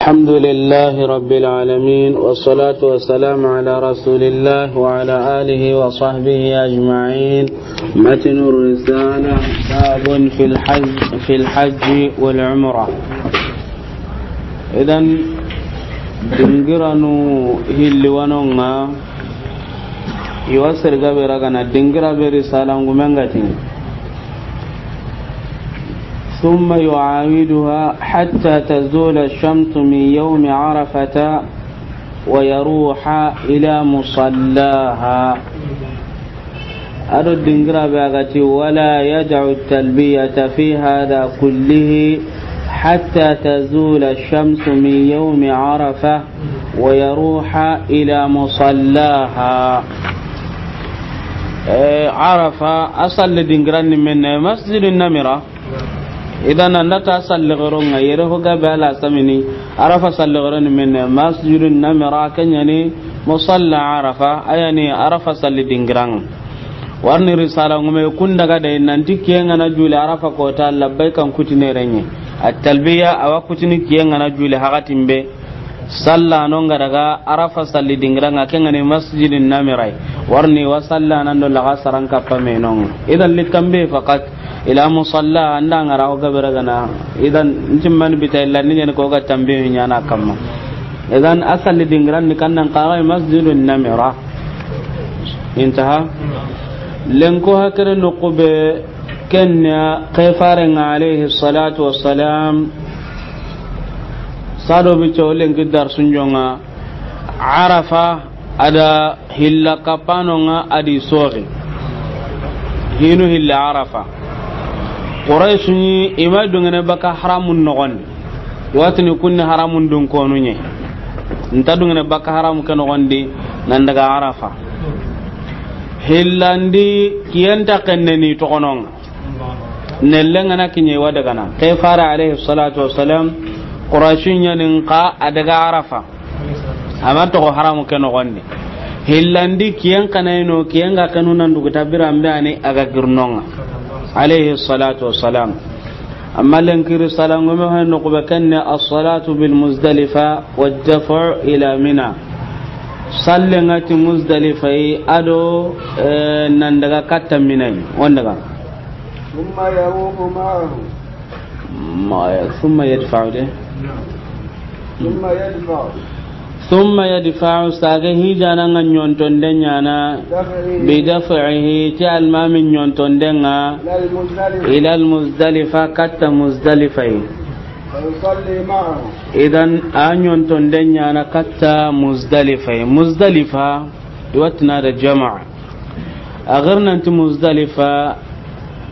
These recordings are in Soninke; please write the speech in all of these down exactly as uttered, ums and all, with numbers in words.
الحمد لله رب العالمين، والصلاة والسلام على رسول الله وعلى آله وصحبه أجمعين. متن الرسالة، باب في الحج، في الحج والعمرة. إذن، dingiranu hilli wanonga, iwa serga be ragana dingira be risalangumen ga ti. ثم يعاودها حتى تزول الشمس من يوم عرفة ويروح إلى مصلاها. A do dingira be a ga ti, ولا يدع التلبية في هذا كله حتى تزول الشمس من يوم عرفة ويروح إلى مصلاها. Eh, Arafa, a salli dingiran ni menne, Masjidun Namira. Idan, an da ta salli goronga, yere ho gabe ala samini, Arafa salli goron ni menne, Masjidun Namira, ken ɲa ni, Musalla Arafa, a ya ni Arafa salli dingiran. Warni risala ngume kun daga de, nanti kiyen ga na juli Arafa kota, labbaykan kutine renye. At-talbiya, awa kutini kiyen ga na juli hakatin be. Salla no nga daga Arafa salli dingiran ŋa, ken ga ni Masjidin Namirai. Warni wa salla nan do laga saran kappa me non. Idan, litambi faqat, ila musalla, an da nga ra ho gabe ragana. Idan, ntimman bita illa ni ɲani ko ga tambi ɲana kamma. Idan, a salli dingiran ni kannan kaga Masjidun Namira. Intaha. Lenko hakere no kube Kenya, ke faren ŋa alayhi salatu wassalam, sado bi cawlen ki darsun jonga, Arafa, a da hilla kapanon ŋa a di soxi. Hinu hilla Arafa. Quraysh ni i ma dungene baka haramun noxon di. Watini kunni haramun dun konu ɲe. Nta dungene baka haramu ke noxon di nan daga Arafa. Hillandi kiyenta kenne ni toxonon ŋa. Nelle nga na kiɲe wa daga na. Ke fara alayhi salatu wassalam, Quraysh ɲanin ka a daga Arafa. Ama toxo haramu ke noxon di. Hillandi kiyen kanayno, kiyen ga kanu nan dugu tabiran be ani a ga girnon ŋa. Alayhi salatu wassalam. Amma lenkiri salangume hay no kube kenne as-salatu bil Muzdalifa wa daf'u ila Mina. Sallen ŋa ti Muzdalifa yi a do, eh, nan daga katta Mina yi. On daga. ثم يروح معه. Ma ya, ثم يدفع de. نعم. ثم يدفع. ثم يدفع, sage hijana nga ɲontonde ɲana, بدفعه. Bi daf'ihi, ti almami ɲontonde nga, إلى المزدلفة. Ila al-Muzdalifa, katta Muzdalifa yi. فيصلي معه. Idan, a ɲontonde ɲana katta Muzdalifa yi. Muzdalifa, i wa ti na da jama. A gir nanti Muzdalifa,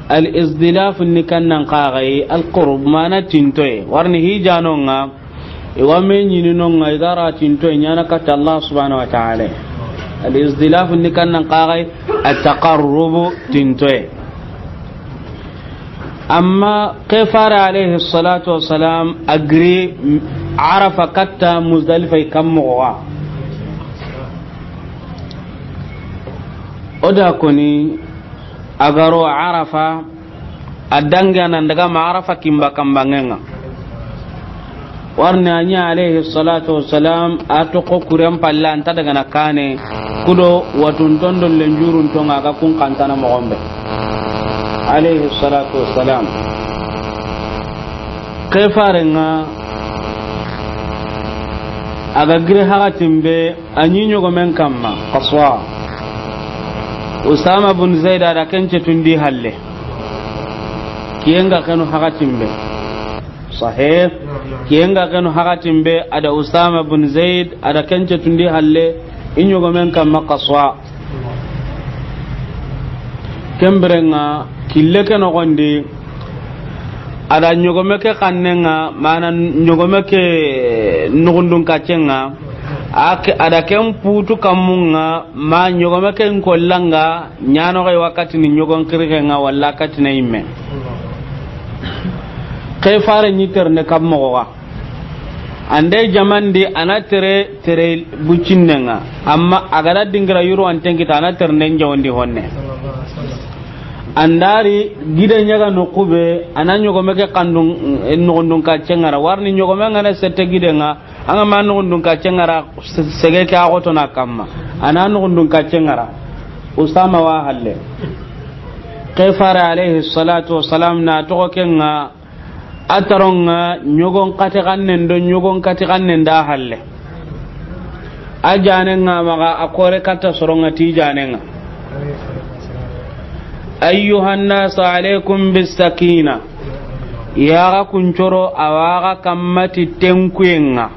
al-izdilaf ni kannan kaga yi, al-qurb, mana tintoye. Warni hijano nga, i wa me ɲini no nga, i ga ra tintoye ɲana katta Allah subhanahu wa ta'ala. Al-izdilaf ni kannan kaga yi, at-taqarrub, tintoye. Amma ke fare alayhi salatu wassalam a giri Arafa katta Muzdalifa yi kammo wa. O da koni a ga ro Arafa, a dangi a nan daga ma Arafa kimba kambangenga. Warni a ɲa alayhi salatu wassalam a toxo kuren palle, a nta daga na kane kudo watunton do lenjurunton ŋa, a ga kun kantana moxon be. Alayhi salatu wassalam. Ke farenga a ga giri hakatin be, a ɲi ɲogomen kamma, Qaswa. Usama bun Zaid a da ken cetundi halle. Kiyen ga kenu hakatin be. Sahih. Kiyen ga kenu hakatin be, a da Usama bun Zaid, a da ken cetundi halle, i ɲogomen kamma Qaswa. Ken birenga, kille ke noxon di, a da ɲogome ke xannenga, mana ɲogome ke nuxundun kaccenga, a ke, a da ken putu kammunga, ma ɲogome ke nkollanga, ɲanoxe wakati ni ɲogon xirixenga, walla kati na yimme. Ke fare ɲi terne kammoxoxa. Ande jamandi a na tere, tere bucinnenga. Amma a ga da dingira yuru an tenkita a na ternden jawandi honne. An da ri gide ɲa ga noqu be, a na ɲogome ke kandun, eh, noxondun kaccen ŋa ra. Wari ni ɲogome ŋa na sette giden ŋa, an ga ma noxondun kaccen ŋa ra, se-, sege ke a xoto na kamma. A na noxondun kaccen ŋa ra. Usama wa halle. Ke fare alayhi salatu wassalam na toxo ken ŋa, a taron ŋa ɲogon kati xannen do ɲogon kati xannen da halle. A jaanen ŋa maxa a kore katta soron ŋa ti jaanen ŋa. Ayyuhan nas alaykum bis sakina. Ya ga kuncoro a wa ga kamma ti tenkuyen ŋa.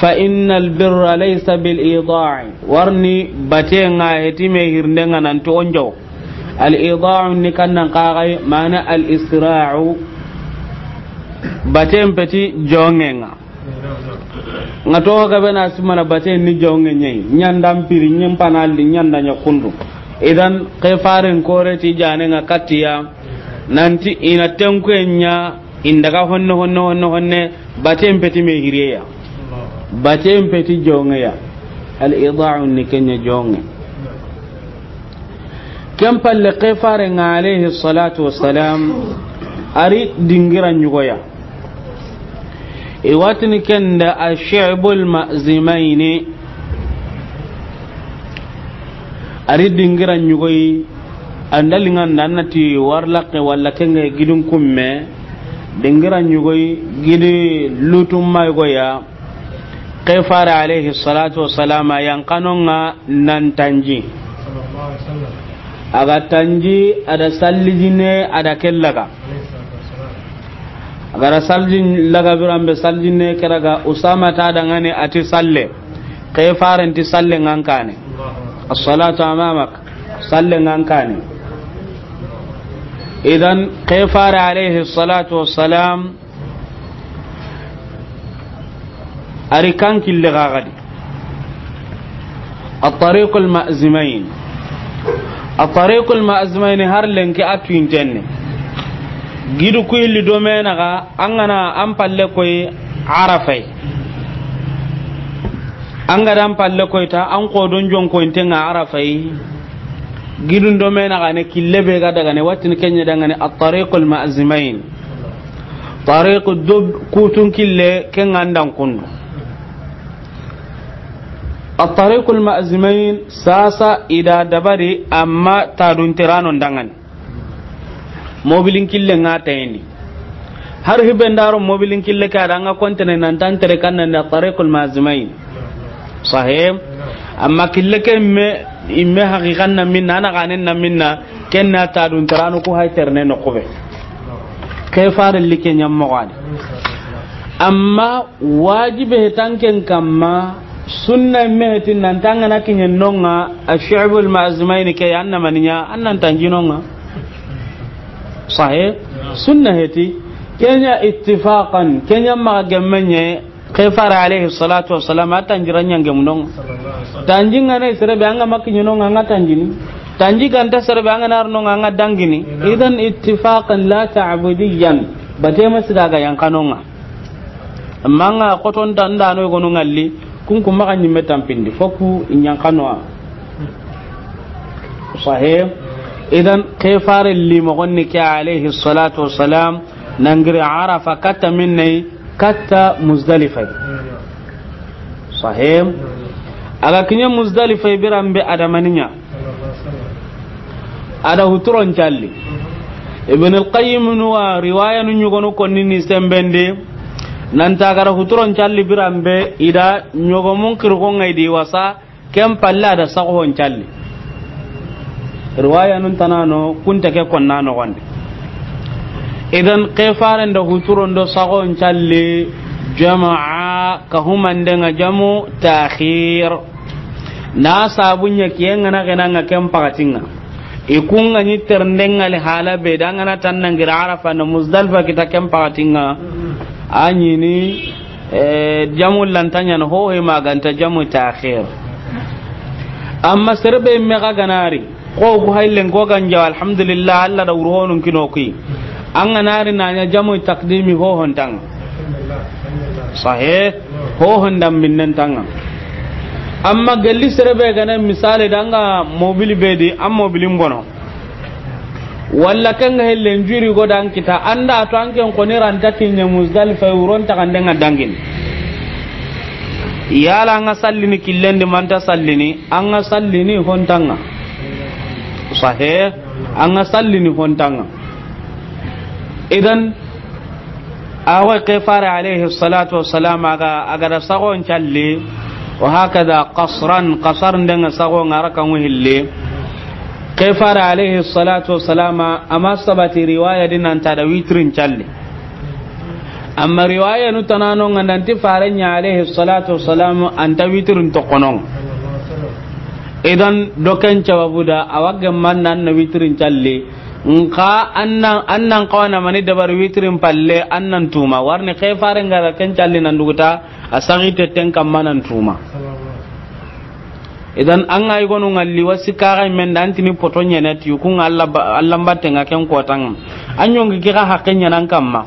Fa innal birra laysa bil ida'i. Wari ni baten ŋa heti me hirnden ŋa nan to onjo. Al ida'u ni kannan kaxay mana al isra'u. Baten peti jongen ŋa. Ŋa to ga be na simana baten ni jongen ɲa yi. Ɲandan piri ɲen panalli ɲanda ɲa kundu. Idan ke faren kore ti jaanen ŋa katiya. Nanti i na tenkuyen ɲa. Inda ga honne, honne, honne, honne, baten peti me hiriye ya. Baten peti jonge ya. Al ida'u ni ken ɲa jonge. Ken palle ke fare ŋa alayhi salatu wassalam, a ri dingira ɲugo ya. I wa tini ken da ash-shi'bul ma'zimayni. A ri dingira ɲugo yi. An da liŋa nda an na ti wari laxe walla ken ŋa gidin kumme, dingira ɲugo yi gidi lutum ma yugo ya. Ke fare alayhi salatu wassalam a yan kanon ŋa nan tanji. A ga tanji a da sallijine a da kellaga. A ga da saljin laga biran be saljine ke raga Usama ta da ŋa ni a ti salle. Ke faren ti salle ŋa an kane. As-salatu amamak. Salle ŋa an kane. Idan ke fare alayhi salatu wassalam a ri kan kille ga gadi. At-tariqul ma'zimayn. At-tariqul ma'zimayn har lenki a tuwintenne. Gidu ku illi do me naxa, an ga na an palle koy Arafay. An ga da an palle koy ta, an xo don jonko inte ŋa Arafay. Gidun do me naxa ne kille be ga daga ne, watin ken ɲa daga ne at-tariqul ma'zimayn. Tariqu dub kutun kille ken ŋa an da kundu. At-tariqul ma'zimayn sasa i da dabari amma tadun tirano ndangani. Mobilin kille ŋa tayni. Har hibe ndaro mobilin kille ka da ŋa kontene nan tan tere kan nan da tariqul ma'zimayn. Sahih. Amma kille ke me, imme haqiqan na minna, ana ganen na minna, ken na tadun tirano ku hay terne no kube. Ke fare like ɲammo gani. Amma wajibe hetanken kamma, sunna me heti nan tangana kiɲen nonga, ash-shi'bul ma'zimayn ke ya anna maniya, annan tanji nonga. Sahih? Sunna heti, kenya ittifaqan, kenya ma gemmenye, ke fare alayhi salatu wassalam, a tanjira ɲange munonga. Tanji ngana sere be anga makiɲe nonga, anga tanjini. Tanji ganta sere be anga nar nonga, anga dangini. Idan ittifaqan la ta'budiyan, batema siga ga yankanonga. Amma anga koton da ndano gonu ngalli, kun kuma ga ɲimme tampindi, foku ɲankanoa. Sahih. Idan ke fare limo gonni ke alayhi salatu wassalam, nangiri Arafa katta minnay, katta Muzdalifa. Sahih. Aga kiɲe Muzdalifa birambe adamaniya. Ada huturon calli. Ibn al-Qayyim nuwa riwaya nu ɲugonu konni ni sembende. Nanta gara huturon calli birambe ida ɲogomun kirgo ngai di wasa. Ken palle ada saxohon calli. Riwaya nun tanano kunta ke konna noxondi. Idan ke faren da huturon do saxohon calli jama'a ka humandenga jamu ta'khir. Na sabunya kiyenga na genanga ken pakatinga. I kunga ni terndenga li hala be dangana tannangira Arafa na Muzdalifa kita ken pakatinga. Anyini Eh, jamu lantanya no ho he maganta jamu ta'khir. Amma serbe me ga ganari, ko ku haylen ko ganja, alhamdulillah, Allah da wuro honun kino ki. An ganari nanya jamu takdimi ho hontang. Sahih, ho hondan minnen tanga. Amma galli serbe gana misale danga mobili bedi, am mobilin bono. Walla ken ga helle n juri go dan kita, an da to an ken xoni ra nta kiɲe Muzdalifa, wuron ta kande ŋa dangini. Yala an ga sallini killen di, ma nta sallini, an ga sallini hontanŋa. Sahih, an ga sallini hontanŋa. Idan, a wa ke Faare alayhi salatu wassalam a ga, a ga da saxon calli, wa hakada qasran, qasar ndenga saxo ŋa ra kan ŋu hilli. Ke Faare alayhi salatu wassalam a ma sabati riwaya di nan ta da witrin calli. Amma riwaya nu tanano ŋa nanti Faare ɲa alayhi salatu wassalam an ta witrin toxono ŋa. Idan, do ken sababu da a wa gemma nan na witrin calli. Nxa an nan, an nan xawa na mani dabari witrin palle, an nan tuma. Warni ke Faare n ga ra ken calli nan duguta, a saxi te ten kamma nan tuma. Idan, an ga yigonu ŋa li wa sikka ga men da, an tini poto ɲene ti, ku ŋa Alla ba-, Alla mbatte ŋa ken kotanŋa. An yonki ke ga haqqe ɲanan kamma.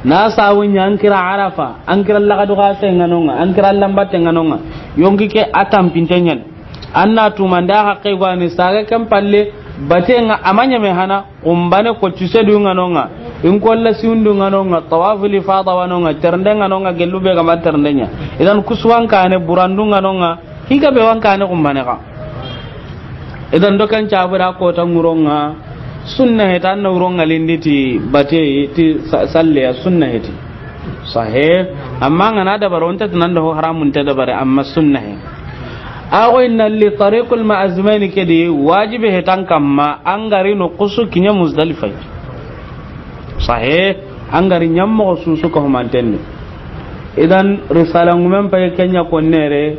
Na sawu ɲa an kira Arafa, an kira laxadu ga te ŋa no ŋa, an kira Alla mbatte ŋa no ŋa. Yonki ke a tampinte ɲen. An na tumanda haqqe go ni saga ken palle, bate ŋa a ma ɲeme hana, xumbane ko tuse du ŋa no ŋa, in kolla siwundu ŋa no ŋa, tawaful ifada wa no ŋa, ternde ŋa no ŋa, gellu be ga ma ternde ɲa. Idan kusuwan kane burandu ŋa no ŋa, higa be wan kane xumbane xa. Idan do ken sabu da kota ŋuron ŋa, sunna he ta na wuron ŋa lindi ti bate ti sa-, salle ya sunna he ti. Sahih. Amma n ga na dabari, o nta ti nan da ho haramun ta dabari, amma sunna he. A go inna li tariqul ma'azmaini ke di, wajibi he tan kamma, an ga ri no kusu kiɲa Muzdalifa. Sahih. An ga ri ɲammo susu ko humanten di. Idan, risala ŋumen pay ken ɲa konnere,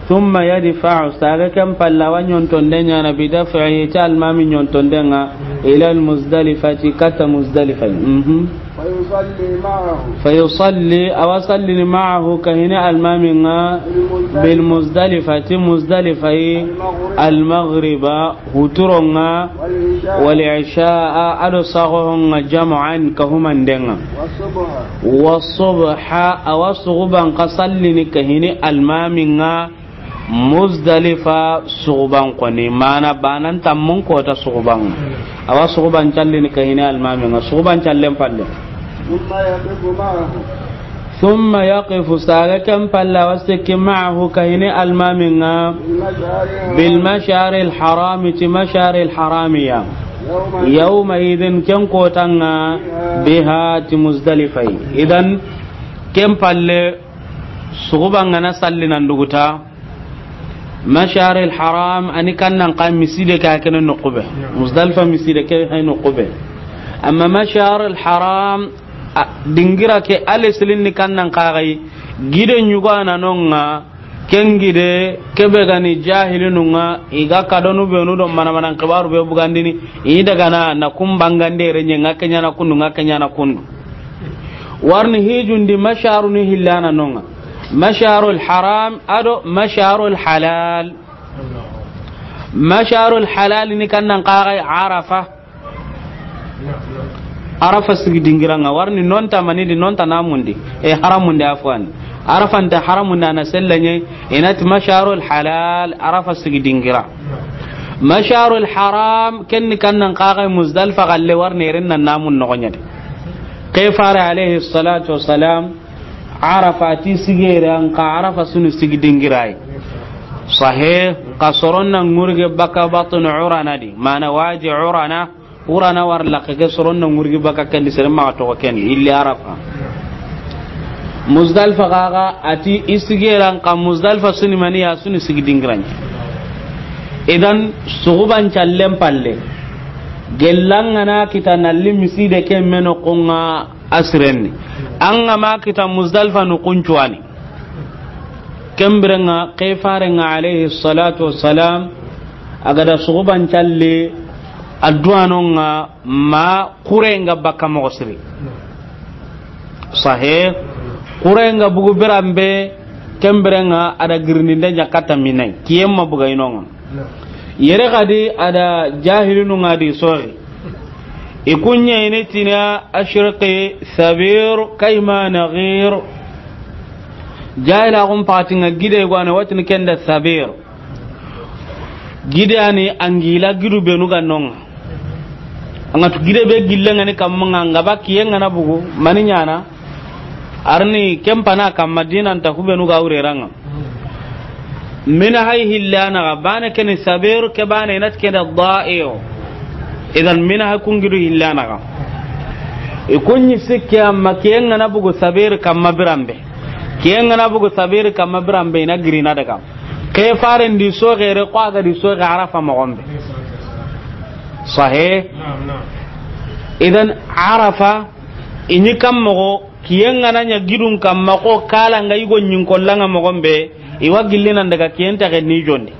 thumma yadfa'u, saga ken palla wa ɲontonde ɲana, bi daf'ihi, ti almami ɲontonde ŋa, ila al-Muzdalifati, kata Muzdalifa. Mhm. Fa yusalli ma'ahu. Fa yusalli, a wa sallini ma'ahu, kahini almami ŋa, bil Muzdalifati, Muzdalifa yi, al-maghriba, huturon ŋa, wal isha'a, a do saxohon ŋa, jam'an, ka humanden ŋa. Wa subha, a wa suxuban xa sallini kahini almami ŋa, Muzdalifa suxuban xoni, mana banan tammun kota suxuban. A wa suxuban callini kahini almami ŋa, suxuban callen palle. Thumma yaqifu ma'ahu. Thumma yaqifu, saga ken palle a wa sikki ma'ahu kahini almami ŋa. Bil mash'aril harami, ti mash'aril harami ya. Yawma idhin, ken kotan ŋa, biha, ti Muzdalifa yi. Idan, ken palle, suxuban ga na salli nan duguta, Mash'aril Haram, a ni kannan xa miside ke, a kene noqu be. Muzdalifa miside ke hay noqu be. Amma Mash'aril Haram, a, dingira ke, ale silin ni kannan xa gay, gide ɲugo a na no ŋa, ken gide, ke be ga ni jahilinu ŋa, i ga kadonu be nu do mana mana xibaru be bugandini, i daga na, na kun bangande renye ŋa ke ɲa na kundu, ŋa ke ɲa na kundu. Warni hijundi masharu ni hillana no ŋa. Masharul haram ado masharul halal. Masharul halal ni kannan xa gay Arafa. Arafa sigi dingira ŋa, warni nonta manidi, nonta namundi. E haramundi afwan. Arafa nta haramundi, a na sella ɲa, i na ti masharul halal, Arafa sigi dingira. Masharul haram, ken ni kannan xa gay Muzdalifa galle, warni ren na namun noxo ɲa de. Ke fare alayhi salatu wassalam, Arafa ti sigere an xa Arafa sunu sigi dingirai. Sahih, xa soron na ŋurge baka batun Urana di, mana waji Urana, Urana war laxe ke soron na ŋurge baka ken di, sere maxa toxo ken di, illi Arafa. Muzdalifa xa ga a ti i sigere an xa Muzdalifa sunu mani ya, sunu sigi dingiran. Idan, suxuban callen palle, gellan ga na kita nalli miside ke meno konga asirenni. An ga ma kita Muzdalifa nu kuncuwani. Ken biren ŋa, ke fare ŋa alayhi salatu wassalam, a ga da suxuban calle, addu'a no ŋa, ma kure nga baka moxo siri. Sahih, kure nga bugu biran be, ken biren ŋa a da girindinde ɲa katta Mina yi, kiyen ma buga i no ŋa. Yere xadi a da jahilinu ŋa di soxi. I kuɲe i ni tina ashriqi Sabir kayma naghir. Jahila xun paxati ŋa gide go a na watini ken da Sabir. Gide a ni angila gidu benu ga no ŋa. An ga tu gide be gillen ŋa ni kamma ŋa, an ga ba kiyen ŋa na bugu, mani ɲaana. A ri ni ken pana kamma dinan ta hubenu ga wureranga. Mina hay hillana ga bane keni sabir ke bane inat keda da'iyo. Idan mina hay kungidu hillana ga. I kunɲi sikke amma kiyen ŋa na bugu sabir kamma biranbe. Kiyen ŋa na bugu sabir kamma biranbe ina girina daga. Ke faren di sogere ko a ga di soge Arafa mogonbe. Sahe. Idan Arafa, i ɲi kam mogo, kiyen ŋa na ɲa gidun kamma ko kala nga yigo ɲin kollanga mogonbe, i wa gilli nan daga kiyen taxe ni jondi.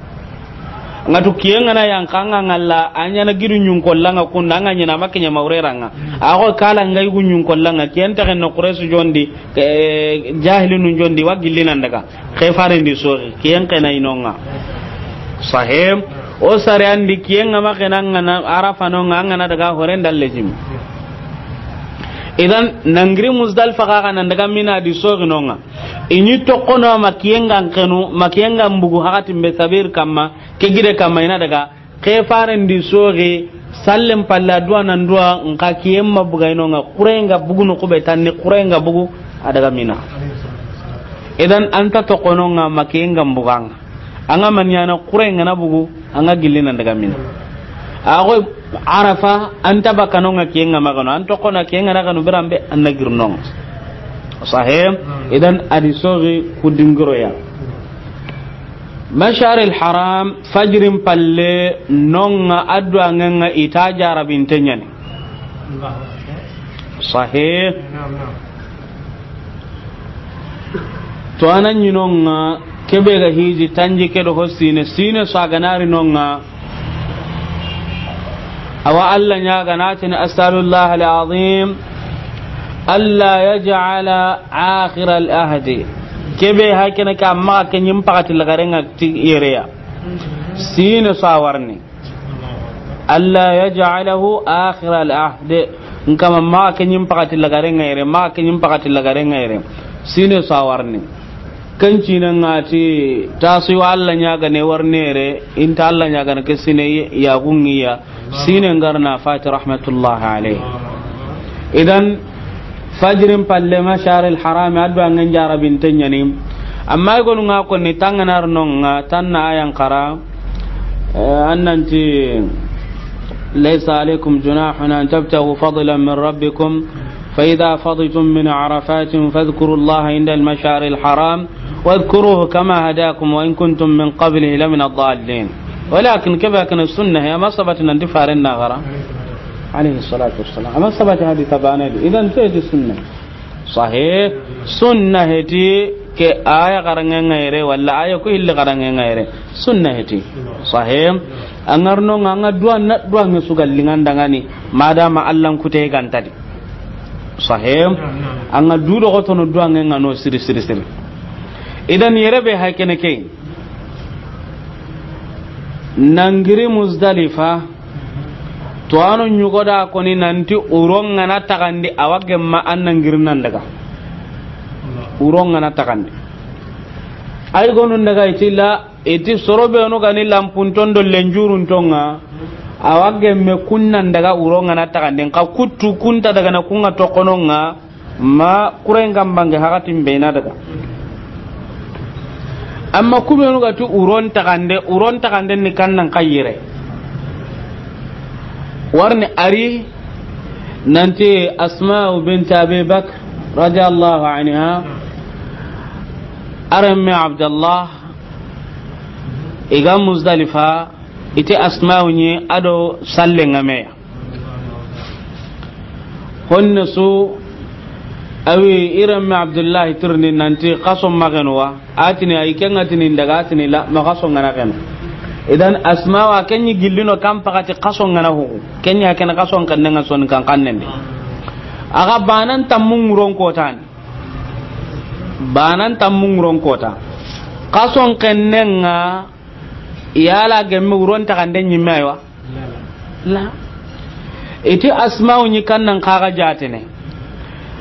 Nga tu kiyen ŋa na yan kanga ngalla, a ɲa na gidu ɲin kollanga kunda, nga ɲina ma kiɲa mawreranga. A ko kala nga yigo ɲin kollanga, kiyen taxe no Quraysh jondi, eh, jahilinu jondi, wa gilli nan daga. Ke faren di soxi, kiyen kena inonga. Sahem. O sare andi kiyen ŋa ma kena nga na Arafa nonga, nga na daga horen dalle jim. Idan nangiri Muzdalifa ka ga nan daga Mina di soxi nonga. I ɲi tokono ma kiyen ŋa kenu, ma kiyen ŋa bugu hakatin be sabir kamma, ke gide kamma ina daga. Ke faren di soxi, sallen palla duwa nan duwa, nka kiyen ma buga inonga, kuren ga bugu no kube tanni, kuren ga bugu, a daga Mina. Idan an ta tokono nga ma kiyen ŋa buganga. An ga man ɲaana kuren ŋa na bugu, an ga gilli nan daga Mina. A ko Arafa, an ta bakano nga kiyen ŋa ma kanu, an tokono kiyen ŋa na kanu biranbe, an na girnonga. Sahem, idan a di soxi ku dingiro ya. Mashar al Haram, fajirin palle nonga addu'a ngenga ita jarabinte ɲani. Sahih. To anan ɲinonga kebe ga hiji tanji ke do ho sine, sine so a ga na ri nonga. Awa Allah ɲaga na tini, "As'alullah al-azim alla yaj'ala akhir al-ahdi." Kebe hakene ka maxa ke ɲim pakati lagarenga ti yereya. Sine so a warni. "Alla yaj'alahu akhir al-ahdi." Nkama maxa ke ɲim pakati lagarenga yere, maxa ke ɲim pakati lagarenga yere. Sine so a warni. Ken cine nga ti tasi wa Allah ɲaga ne warnere, inta Allah ɲaga ne ke sine ya gungiya, sine ngarna fati rahmatullahi alayhi. Idan, fajirin palle mashar al haram addu'a ngen jarabinte ɲani. Amma i gonu nga konni tanganar nonga, tanna ayan kara, eh, annanti, "Laysa alaykum junahun an tabtagu fadlan min rabbikum." فإذا فضيتم من عرفات فاذكروا الله عند المشعر الحرام واذكروه كما هداكم وإن كنتم من قبله لمن الضالين. ولكن كما كان السنة هي ما ثبت أن دفارنا غرا عليه الصلاة والسلام. ما ثبت هذه تبانه. إذن تأتي السنة. Sahe, sunna heti ke aya garange ngaire, wala aya ko hilli garange ngaire. Sunna heti. Sahe, angarno nga nga duwa na duwa nge sugal lingandangani, madama Allah kute gantadi. Sahe, anga du do gotono duwa nge ngano siri siri siri. Idan yere be haykene ke. Nangiri Muzdalifa, to ano ɲugo da koni nanti uron ngana tagandi awa gemma an nangiri nan daga. Uron ngana tagandi. Ay gonu daga itilla, iti soro be no gani lampunton do lenjurun tonga. Awa gemme kunnan daga uron ngana tagandi. Nka kuttu kunta daga na kunga tokononga. Ma kuren gambange hakatin bena daga. Amma kubenu ga tu uron tagande, uron tagande ni kannan kayire. Warni ari nanti Asma'u bint Abi Bakr radiyallahu anha, aremme Abdallah, iga Muzdalifa, ite Asma'u ni ado salle ngameya. Honne su, awi iremme Abdullahi tirni nanti kaso magenu wa, atini ay kenga tini daga atini la, ma kaso ngana kenu. Idan Asma wa kenyi gillino kam pakati kaso ngana hugu. Kenya kena kaso kennenga son kan kannende. Aga banan tammun nguron kotani. Banan tammun nguron kota. Kaso kennenga yala gemme uron tagande nyimme aywa. La. Iti Asma'u ni kannan kaga jatene.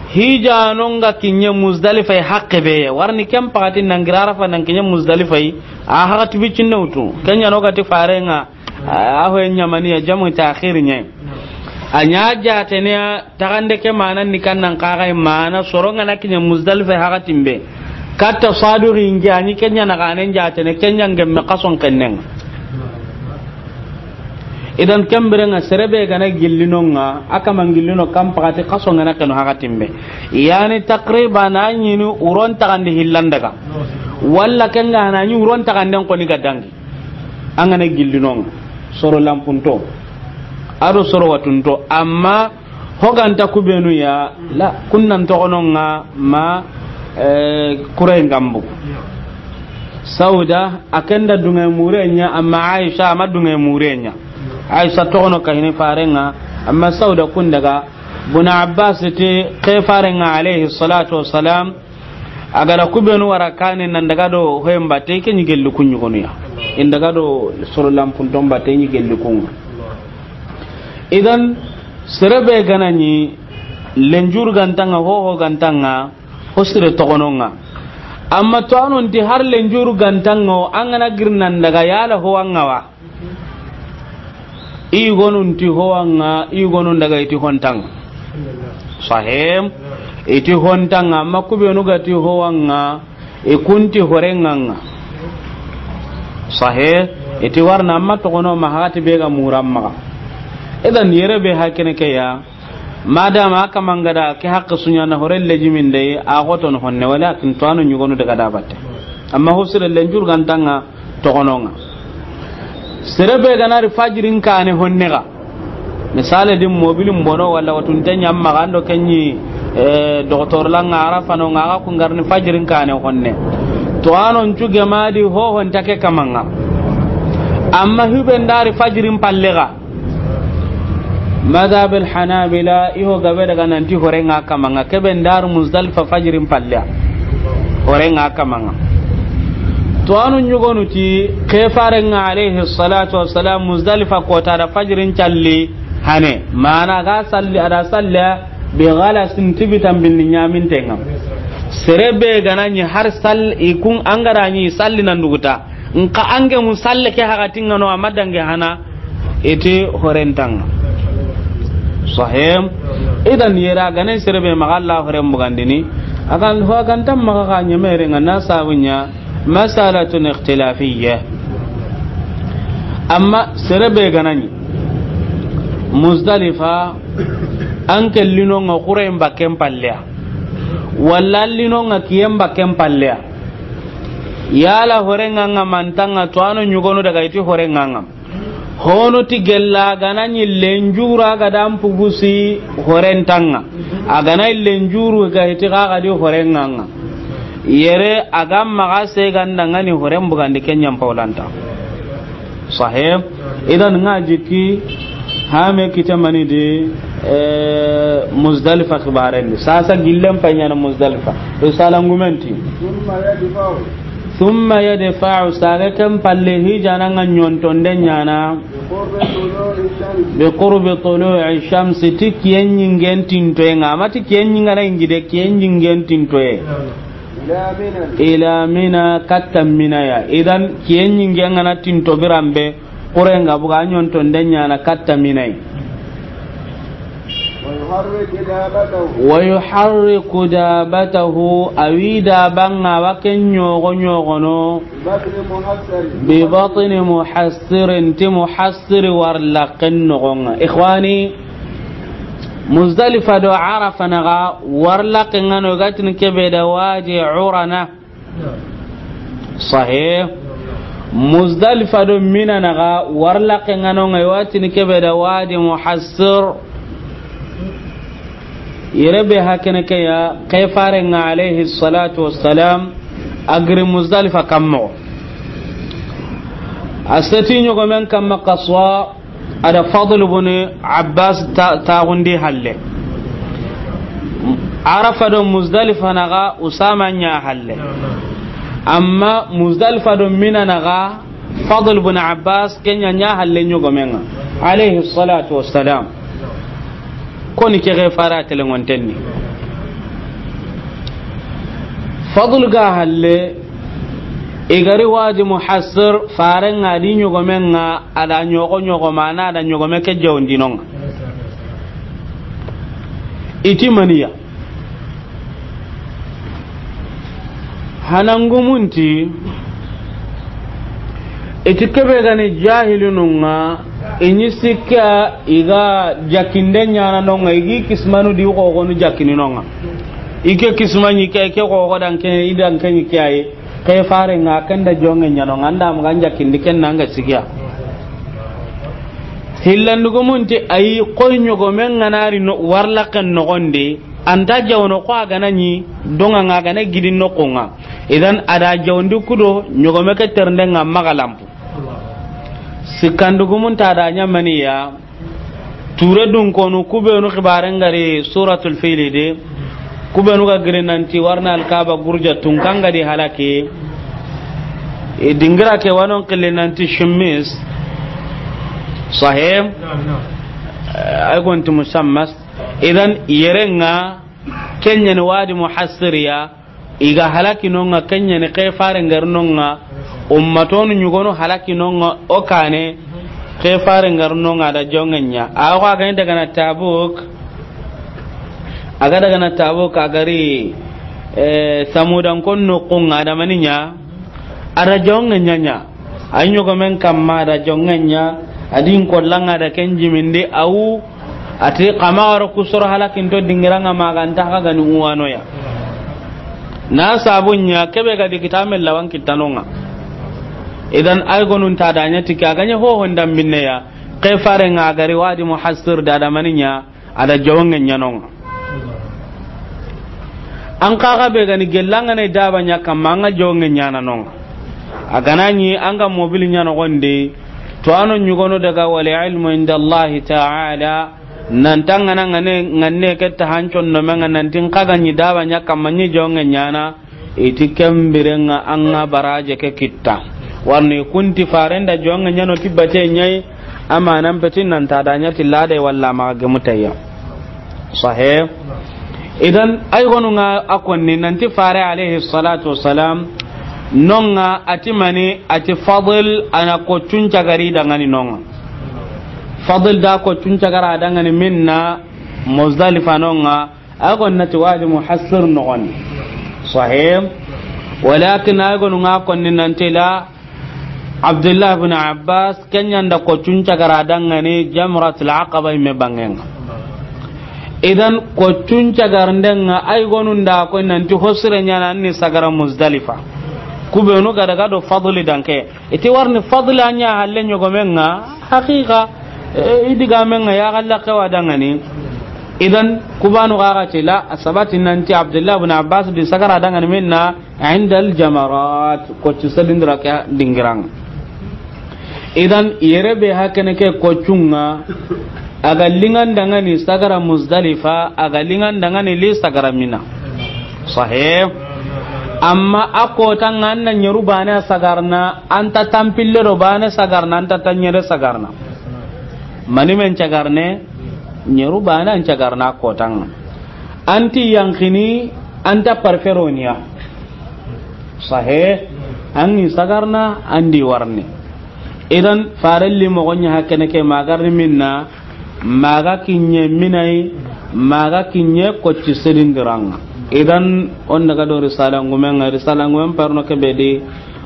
Hija nonga kinye Muzdalifa yi hakke be. Warni kem pakati nangira Arafa nan kinye Muzdalifa yi. A hakati bicinne utu. Kenya no gati farenga. A ho nyamani ya jamu ta'khir nye. A ɲa jaatene ya taxande ke mana ni kannan kaxay mana soro ŋa na kiɲa Muzdalifa haxatin be. Katta Saduxi nge a ɲi ke ɲa na xanen jaatene ke ɲa ngemme xason kennen ŋa. Idan ken biren ŋa sere be ga na gillino ŋa, a kaman gillino kan paxati xason ŋa na kenu haxatin be. Yani takriban a ɲini uron taxandi hillan daga. Walla ken ga na ɲi uron taxanden xoni ga dangi. An ga na gillino ŋa, soro lanpunto, a do soro watunto, amma ho ga nta ku benu ya, la, kun nan toxono ŋa ma, eh, Kurayen gambu. Sauda, a ken da dunŋe mure ɲa, amma Aisha a ma dunŋe mure ɲa. Aisha toxono kahini faren ŋa, amma Sauda kun daga. Buna Abbas ti ke faren ŋa alayhi salatu wassalam, a ga da ku benu wara kane nan daga do hoyen batte ke ɲi gelli kun ɲugonu ya. In daga do soro lanpunton batte ɲi gelli kun ŋa. Idan sere be ga na ɲi lenjuru ga nta ŋa, hoho ga nta ŋa, ho sire toxono ŋa. Amma to a no nti har lenjuru ga nta ŋa, an ga na giri nan daga yala ho wa ŋa wa. I yugonu nti ho wa ŋa, i yugonu daga i ti ho nta ŋa. Sahih. I ti ho nta ŋa, amma ku benu ga ti ho wa ŋa, i kun ti hore ŋa ŋa. Sahih. I ti warna amma toxono ma haxati be ga muran maxa. Idan yere be hakene ke ya. Madama a kaman ga da ke haqqe su ɲa na hore lejimin de, a xotono honne, wala kin to a no ɲugonu daga da batte. Amma ho sire lenjuru ga nta ŋa toxono ŋa. Sere be ga na ri fajirin kane honne ga. Misale di mobilin bono wala watunte ɲa maxa an do ke ɲi, eh, docteur la ŋa Arafa no ŋa ga kun garni fajirin kane honne. To a no ncu gemadi hoho nta ke kaman ŋa. Amma hube nda ri fajirin palle ga. Madhab al Hanabila, i ho gabe daga nan ti hore ŋa kaman ŋa, ke be nda ri Muzdalifa fajirin palle ya. Hore ŋa kaman ŋa. To a no ɲugonu ti ke faren ŋa alayhi salatu wassalam Muzdalifa kota da fajirin calli hane. Mana ga salli, a da salli bi galasin ti bitan binni ɲaminten ŋa. Sere be ga na ɲi har sal-, i kun an ga da ɲi salli nan duguta. Nka an ge mu salle ke haxatin ŋa no a ma dangi hana, i ti hore nta ŋa. Sahih. Idan yere a ga na sere be maxa Alla horen bugandini, a ga ho a ga nta maxa xa ɲemere ŋa na sabu ɲa masalatun ikhtilafiyya. Amma sere be ga na ɲi Muzdalifa, an ke lino ŋa Kurayen bakken palle ya. Walla lino ŋa kiyen bakken palle ya. Yala hore ŋa ŋa ma nta ŋa, to a no ɲugonu daga i ti hore ŋa ŋa. Hono ti gella ga na ɲi lenjuru a ga da mpugusi hore nta ŋa. A ga na lenjuru ga i ti xa ga di hore ŋa ŋa. Yere a ga maxa se ga nda ŋa ni horen bugandi ke ɲa mpawlanta. Sahih. Idan ŋa jikki hame kita mani di, eh, Muzdalifa xibaren di. Sasa gillen pay ɲa na Muzdalifa. Risala ngumenti. ثم يدفع. Thumma yadfa'u, saga ken palle hijana ŋa ɲontonde ɲa na. بقرب طلوع الشمس. Bi qurbi tulu'i shamsi, ti kiyen ɲingen tintoye ŋa. Ama ti kiyen ɲingana ingi de, kiyen ɲingen tintoye. إلى منى. Ila Mina, katta Mina ya. Idan, kiyen ɲingen ŋa na tinto biranbe, Kurayen ga buga, a ɲontonde ɲa na katta Mina yi. ويحرك دابته. Wa yuharriku dabatahu, a wi daban ŋa wa ken ɲogo ɲogono. ببطن محصر. Bi batni muhassirin, ti muhassiri warlaken noxon ŋa. Ikhwani, Muzdalifa do Arafa naxa warlaken ŋa no, i ga tini kebe da Wadi Urana. Sahih. Muzdalifa do Mina naxa warlaken ŋa no ŋa, i wa tini kebe da Wadi Muhassir. Yere be hakene ke ya, ke faren ŋa alayhi salatu wassalam, a giri Muzdalifa kammo. A seti ɲogomen kamma kaswa, a da Fadl ibn Abbas ta-, taxundi halle. Arafa do Muzdalifa naxa Usama ɲa halle. Amma Muzdalifa do Mina naxa Fadl ibn Abbas, ken ɲa ɲa halle ɲogomen ŋa, alayhi salatu wassalam. Koni ke xe fara telengontenni. Fadl ga halle, i gari Wadi Muhassir, faren ŋa di ɲogomen ŋa, a da ɲogo ɲogo ma na, a da ɲogome ke jawndino ŋa. I ti maniya. Hanangumunti, i ti kebe ga ni jahilinun ŋa, i ɲi sikka i ga jakinde ɲaana no ŋa, i gi kisimanu di xoxonu jakini no ŋa. I ke kisima ɲi ke, ke xoxo dan ke, i dan ke ɲi ke ayi. Ke fare ŋa ken da jonge ɲa no ŋa, an da ma ga an jakindi ken na an ga sigiya. Hillandugumunti ayi, koy ɲogomen ŋa na ri no, warlaken noxondi, an ta jawno ko a ga na ɲi donga ŋa, a ga na gidi noxo ŋa. Idan a da jawndi kudo ɲogome ke terende ŋa maxa lampu. Sikkandugumunta da ɲa maniya. Ture dun konu, kubenu xibaren gari Suratul Fili de, kubenu ga giri nanti warna Alkaba gurja tun kan ga di halaki. E dingira ke wanon kille nanti shimmis. Sahih. Ay gonti musammas. Idan yere ŋa, ken ɲa ni Wadi Muhassiriya. I ga halaki no ŋa, ken ɲa ni ke fare ngar no ŋa, ummatonu ɲugonu halaki no ŋa, o kane ke fare ngar no ŋa da jonge ɲa. A ko a ga ni daga na Tabuk, a ga daga na Tabuk, a gari, eh, Samudan kon no ko ŋa da maniya, a da jonge ɲa ɲa. A ɲogomen kamma da jonge ɲa, a di n kolla ŋa da ken jimindi, awu, a ti xa ma waro ku soro halakinto dingira ŋa ma ga nta xa ga ni uwano ya. Na sabu ɲa, kebe ga di kita me lawan kitta no ŋa. Idan ay gonun ta da ɲa ti ke, a ga ɲa hoho ndam binne ya, ke fare ŋa gari Wadi Muhassir da da maniya, a da jonge ɲa no ŋa. An xa ga be ga ni gella ŋa ne daba ɲa kamma, an ga jonge ɲaana no ŋa. A ga na ɲi an ga mobili ɲa noxondi, to ano ɲugono daga wal ilmu inda Allahi ta'ala, nan ta ŋa na ŋa ne, ŋa ne ke ta hancon no me ŋa nanti xa ga ɲi daba ɲa kamma ɲi jonge ɲaana, i ti ken bire ŋa an ŋa baraje ke kitta. Warni kunti faren da jonge ɲa no ti bate ɲa yi, amanan peti nan ta da ɲa ti lade walla ma ga mutayya. Sahih. Idan ay gonu ŋa a konni nanti fare alayhi salatu wassalam no ŋa a ti mani, a ti Fadl, a na koccun cagari dangani no ŋa. Fadl da koccun cagara dangani minna Muzdalifa no ŋa, a gon na ti Wadi Muhassir noxondi. Sahih. Walakin a gonu ŋa konni nanti la Abdullah ibn Abbas, ken ɲa nda koccun cagara dangani Jamratul Aqaba i me bange ŋa. Idan koccun cagarnde ŋa, ay gonu nda ko nanti hosire ɲaana ni sagara Muzdalifa. Kubenu ga daga do Fadli danke. I ti warni Fadli a ɲa halle ɲogomen ŋa, haqiqa, e, i digamen ŋa ya galla kewa dangani. Idan kubanu ga ga ti la, a sabati nanti Abdullah ibn Abbas di sagara dangani minna, inda al jamarat, koccu sedindira ke dingira ŋa. Idan yere be hakene ke koccun ŋa, a ga liŋan dangani sagara Muzdalifa, a ga liŋan dangani li sagara Mina. Sahih. Amma a kota ŋa an na ɲeru bane sagarna, an ta tampille do bane sagarna, an ta tanyere sagarna. Mani men cagarne, ɲeru bane an cagarna a kota ŋa. An ti yankini, an ta parferoniya. Sahih. An ni sagarna, an di warni. Idan farelli moxo ɲa hakene ke magarni minna, maga kinye minai, maga kinye kocci sedindiranŋa. Idan on daga do risala ngumen ŋa, risala ngumen parno ke be di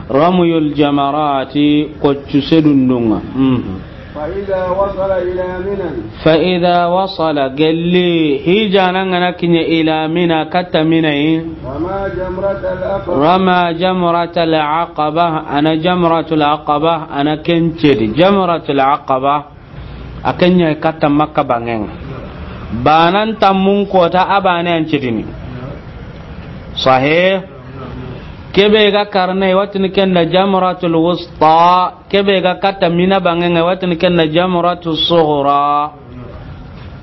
ramyul jamarati, kocci sedundunŋa. Mhm. فإذا وصل إلى منى. فإذا وصل، gelli hijana ŋa na kinye ila Mina, katta Mina yi. رمى جمرة العقبة. رمى جمرة العقبة، a na jamratul aqaba, a na ken cedi. Jamratul aqaba, a ken ɲa katta Makka banŋen ŋa. Banan tammun kota a bane an cedini. Sahih. Kebe ga karne watini ken da jamratul wusta. Kebe ga katta Mina banŋen ŋa, watini ken da jamratu sughra.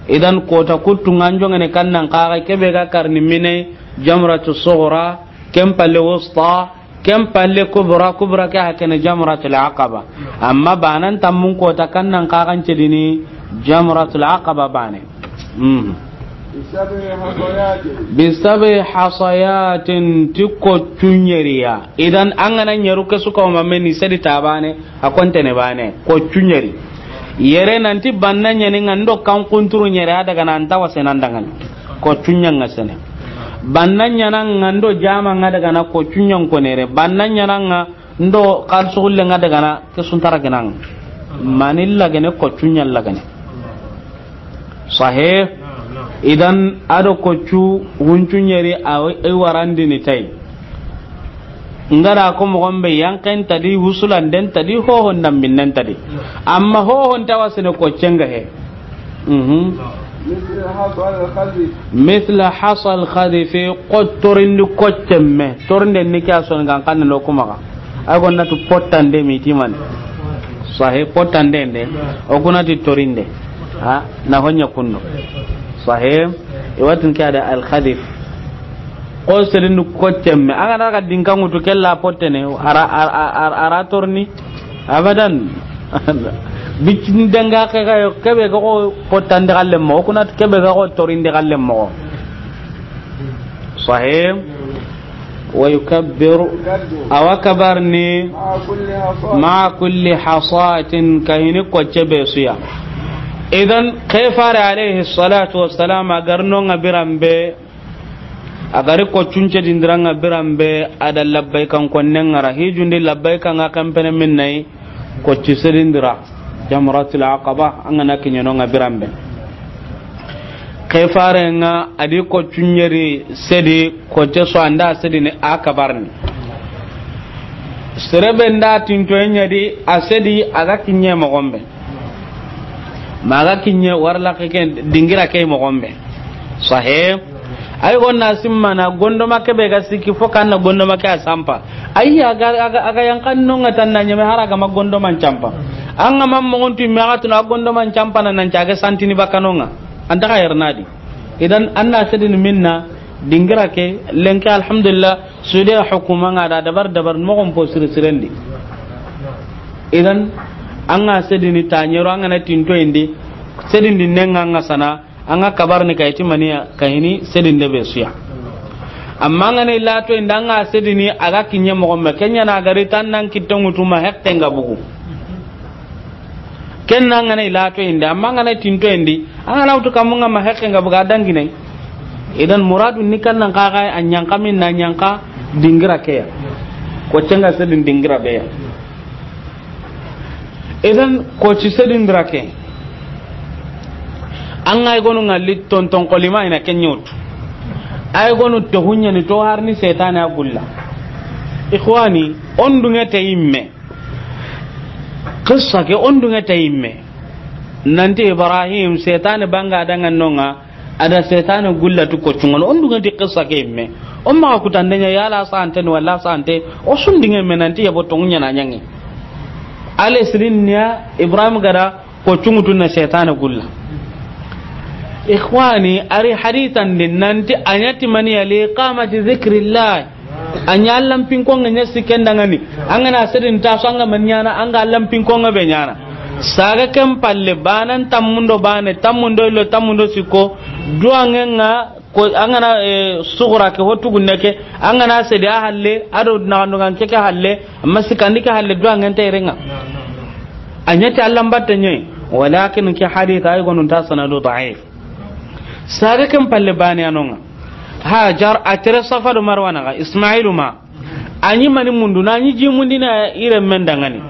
Idan kota kuttu ŋa an jongene kannan kaga, kebe ga karni Mina jamratu sughra, ken palle wusta, ken palle kubra, kubra ke hakene jamratul aqaba. Amma banan tammun kota kannan kaga an cedini jamratul aqaba bane. Mhm. بسبع حصيات. بسبع حصيات, ti koccu ɲeriya. Idan an ga na ɲeru ke su ka o ma meni sedi ta bane, a kontene bane, koccu ɲeri. Yere nanti banna ɲeni ŋa ndo kan kunturu ɲeri a daga na an ta wase nan dangani. Koccu ɲa ŋa sene. Banna ɲaana ŋa ndo jama ŋa daga na koccu ɲa n konere. Banna ɲaana ŋa ndo xaalisu xulle ŋa daga na ke suntara kenan. Mani lagene koccu ɲa lagene. Sahih. Idan a do koccu huncu ɲeri a i warandini tay. N ga da ko moxo be yanqen ta di, wusulan den ta di, hohon damminnen ta di. Amma hohon ta wa sene koccen ga he. Mhm. مثل حصى الخذف. مثل حصى الخذف, ko torindi koccen me. Torinde ni ke ya soni gan kan lo kuma ga. Ay gonnati pottande mi ti mani. Sahih, pottande nde. O kunati torinde. Ha, na honya kunno. Sahih. I wa tini ke ya da al khadhif. Ko serindi koccen me. An ga na ga dinka ŋutu ke la pottene. Ara, ara, ara, ara torni. Abadan. Bicin danga ke ga yo, ke be ga ko pottande galle mo. O kunati ke be ga ko torinde galle mo. Sahih. ويكبر, a wa kabarini, مع كل حصاة, ka hini kocce be su ya. Idan, ke fare alayhi salatu wassalam, a ga ri no ŋa biran be, a ga ri koccun cedindira ŋa biran be, a da labbaykan konnen ŋa ra, hijundi labbaykan ŋa ken pene minna yi, kocci sedindira, Jamratul Aqaba, an ga na kiɲe no ŋa biran be. Ke fare ŋa a di koccu ɲeri sedi, kocce su an da sedini a kabarini. Sere be n da tintoye ɲa di a sedi a ga kiɲe moxon be. Ma a ga kiɲe wara laxe ke dingira ke moxon be. Sahih. Ay gonna simmana gondoma ke be ga sikki fo kan na gondoma ke a sampa. Ay a ga, a ga, a ga yankan no ŋa tan na ɲeme hara ga ma gondoman campa. An ga ma moxon tu me a ga tuna gondoman campa na nan caage santini bakano ŋa. An ta ga yernadi. Idan an na sedini minna dingira ke lenki alhamdulillah. Sude hukuma ŋa da dabar dabar moxon po siri sirendi. Idan an ga sedini taɲero an ga na tintoyindi sedindi ne ŋa ŋa sana. An ga kabarini ka yi ti maniya ka hini sedinde be su ya. Amma an ga na i lato inda an ga sedini a ga kiɲe moxon be, ken ɲa na a ga ri tan nan kitte ŋutu ma hekke ŋa bugu. Ken na an ga na i lato inda, amma an ga na tinto indi, an ga na wutu kamu ŋa ma hekke ŋa bugu a dangine. Idan muradu ni kan nan ka ga a ɲanka minna ɲanka dingira ke ya. Kocce ŋa sedin dingira be ya. Idan kocci sedindira ke. An ga i gonu ŋalli tonton kolima i na ke ɲa wutu. Ay gonu to hunyani to harni setane a gulla. Ikhwani, on dunge te yimme. Qissa ke on dunge te yimme. Nanti Ibrahim setane banga danga no ŋa. A da setane gulla tu koccu ŋa no, on dunge ti qissa ke yimme. O maxa kutande ɲa yala sante ni wala sante, o sundinge me nanti yabo tongu ɲa na ɲangi. Ale sirin niya Ibrahim ga da koccu ŋutu na setane gulla. Ikhwani, a ri hadithan di nanti a ɲa ti maniya li iqamati zikrillah. A ɲa Allan pinkonŋe ɲa sikken dangani. An ga na sedin ta so an ga man ɲana, an ga Allan pinkonŋe be ɲana. Saga ken palle, banan tammundo bane, tammundo illo, tammundo sikko, duwangen ŋa, ko, an ga na, eh, suxura ke, ho tugunne ke, an ga na sedi a halle, a do naxandugan ke ke halle, amma sikkandi ke halle, duwangen ta yere ŋa. A ɲa ti Allan batte ɲa yi, walakin ke hadith ay gonu nta sanadu da'if. Saga ken palle bane a no ŋa. Hajar a tere Safa do Marwa naxa, Ismailu ma. A ɲi mani mundu, na ɲi ji mundi na ire men dangani.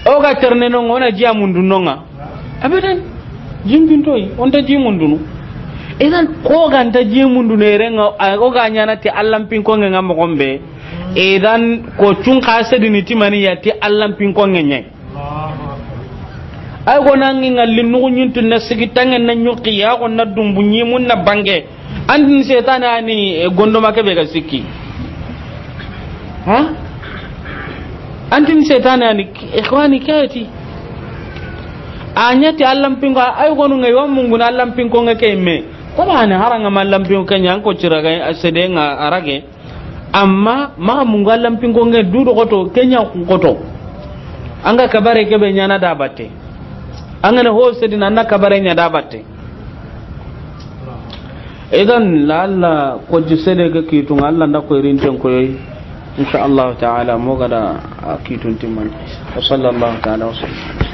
O ga terne no ŋa, o na ji a mundu no ŋa. Abadan. Jimbintoyi, o nta ji mundunu. Idan, ko ga nta ji mundunu ere ŋa, a, o ga ɲana ti Allan pinkonŋe ŋa moxon be. Idan, koccun xa sedini ti maniya ti Allan pinkonŋe ɲa yi. Ay gona ŋi ŋalli nuxu ɲintu na sigi tanŋe na ɲuxi ya go na dumbu ɲimun na bange. Antin setane ani, eh, gondoma ke be ga sikki. Ha? Antin setane ani, ikhwani, keti. A ɲa ti Allan pinko, ay gonu ŋa yo munguna Allan pinkonŋe ke me. Ko ba ne haranga ma Allan pinko ke ɲa ko ciraga a sede ŋa a rage. Amma maxa mungu Allan pinkonŋe du do xoto, ke ɲa ku xoto. An ga kabare ke be ɲana da batte. An ga na ho sedina an na kabare ɲa da batte. Idan la Allah ko ji sede ke kitu ŋa Allah nda ko irin ten koyi. Insha Allah ta'ala mo ga da a kitun timman. Wa sallallahu ta'ala wa sallam.